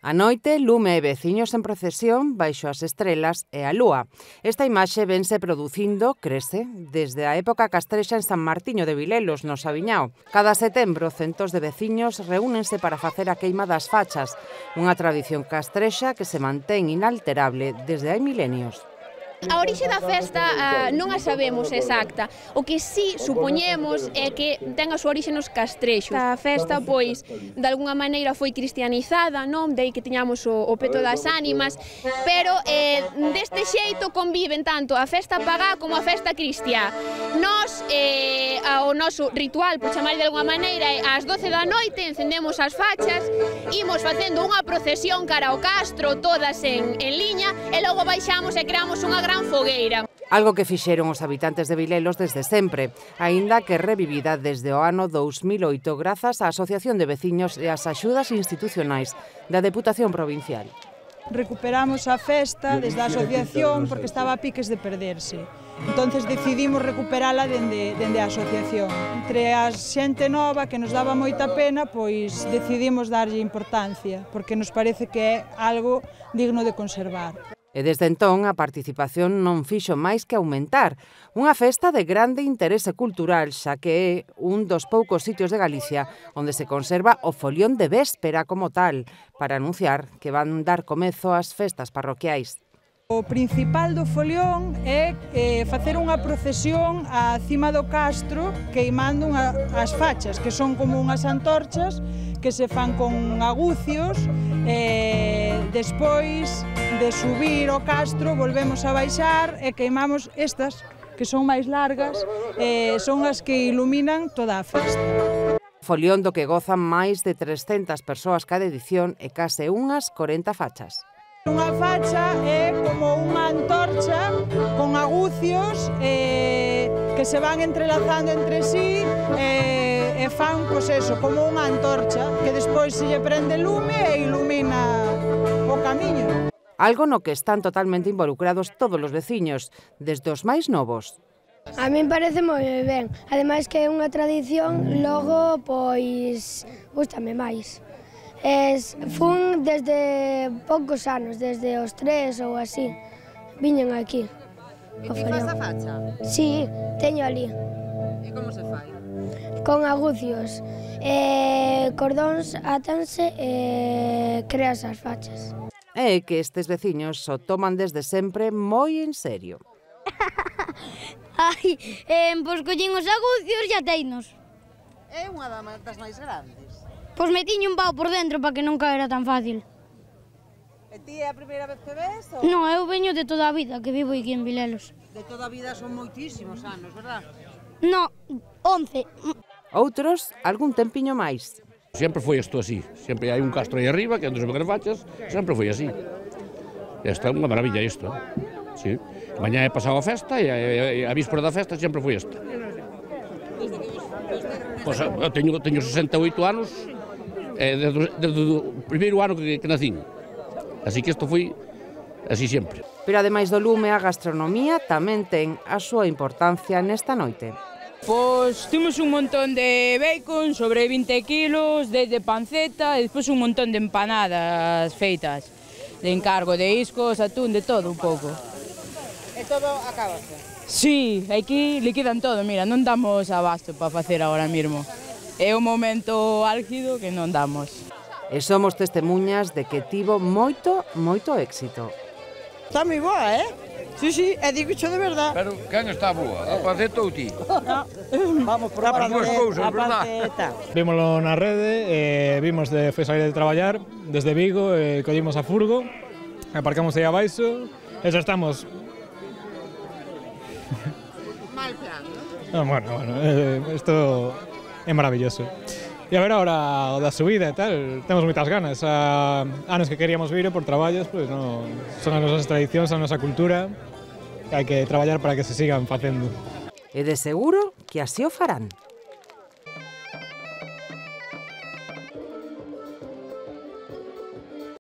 A noite, lume e veciños en procesión baixo as estrelas e a lúa. Esta imaxe vense producindo, crese, desde a época castrexa en San Martiño de Vilelos, no Sabiñao. Cada setembro, centos de veciños reúnense para facer a queima das fachas, unha tradición castrexa que se mantén inalterable desde hai milenios. A orixe da festa non a sabemos exacta. O que sí supoñemos é que ten a súa orixe nos castrexos. A festa, pois, de algunha maneira foi cristianizada, non? De aí que tiñamos o peto das ánimas, pero deste xeito conviven tanto a festa pagá como a festa cristiá. Nós, o noso ritual, por chamar de algunha maneira, é ás 12 da noite, encendemos as fachas, imos facendo unha procesión cara ao castro, todas en liña, e logo baixamos e creamos unha gran fogueira. Algo que fixeron os habitantes de Vilelos desde sempre, aínda que revivida desde o ano 2008 grazas á Asociación de Veciños e ás axudas institucionais da Deputación Provincial. Recuperamos a festa desde a asociación porque estaba a piques de perderse. Entonces decidimos recuperala dende a asociación. Entre a xente nova que nos daba moita pena, pois decidimos darlle importancia, porque nos parece que é algo digno de conservar. E desde entón a participación non fixo máis que aumentar. Unha festa de grande interese cultural, xa que é un dos poucos sitios de Galicia onde se conserva o folión de véspera como tal, para anunciar que van dar comezo ás festas parroquiais. O principal do folión é facer unha procesión á cima do castro queimando as fachas, que son como unhas antorchas que se fan con agucios. Despois de subir o castro volvemos a baixar e queimamos estas, que son máis largas, son as que iluminan toda a festa. Folión do que gozan máis de 300 persoas cada edición e case unhas 40 fachas. Unha facha é como unha antorcha con agucios que se van entrelazando entre sí e fan, pois eso, como unha antorcha que despois se lle prende lume e ilumina o camiño. Algo no que están totalmente involucrados todos os veciños, desde os máis novos. A min parece moi ben, ademais que é unha tradición, logo, pois, gústame máis. Fun desde poucos anos, desde os 3 ou así, viñen aquí. E ti faz a facha? Sí, teño ali. E como se fai? Con agucios, cordóns átanse e creas as fachas. É que estes veciños o toman desde sempre moi en serio. Ai, pois collín os agucios e ateinos. É unha das máis grandes. Pois metiño un pau por dentro para que non caera tan fácil. E ti é a primeira vez que ves? Non, eu veño de toda a vida, que vivo aquí en Vilelos. De toda a vida son moitísimos anos, verdad? Non, 11. Outros, algún tempiño máis. Sempre foi isto así, sempre hai un castro aí arriba, que é onde se ven as fachas, sempre foi así. Esta é unha maravilla isto, sí. Mañá é pasado a festa e a víspera da festa sempre foi esta. Pois eu teño 68 anos, desde o primeiro ano que nacín. Así que isto foi así sempre. Pero ademais do lume, a gastronomía tamén ten a súa importancia nesta noite. Pois temos un montón de bacon, sobre 20 kilos, desde panceta e despois un montón de empanadas feitas. De encargo, de iscos, atún, de todo un pouco. E todo acabase? Sí, aquí liquidan todo, mira, non damos abasto para facer agora mesmo. É un momento álgido que non damos. E somos testemunhas de que tivo moito éxito. Está moi boa, Sí, e digo xo de verdad. Pero quen está boa? A panceta ou ti? Vamos por a panceta. Vímoslo na rede, vimos de foi sair de traballar desde Vigo, collimos a furgo, aparcamos aí abaixo, e xa estamos. Mal plan, non? Bueno, isto é maravilloso. E a ver agora o da subida e tal, temos moitas ganas. Anos que queríamos vir por traballos, pois non son as nosas tradicións, a nosa cultura, que hai que traballar para que se sigan facendo. E de seguro que así o farán.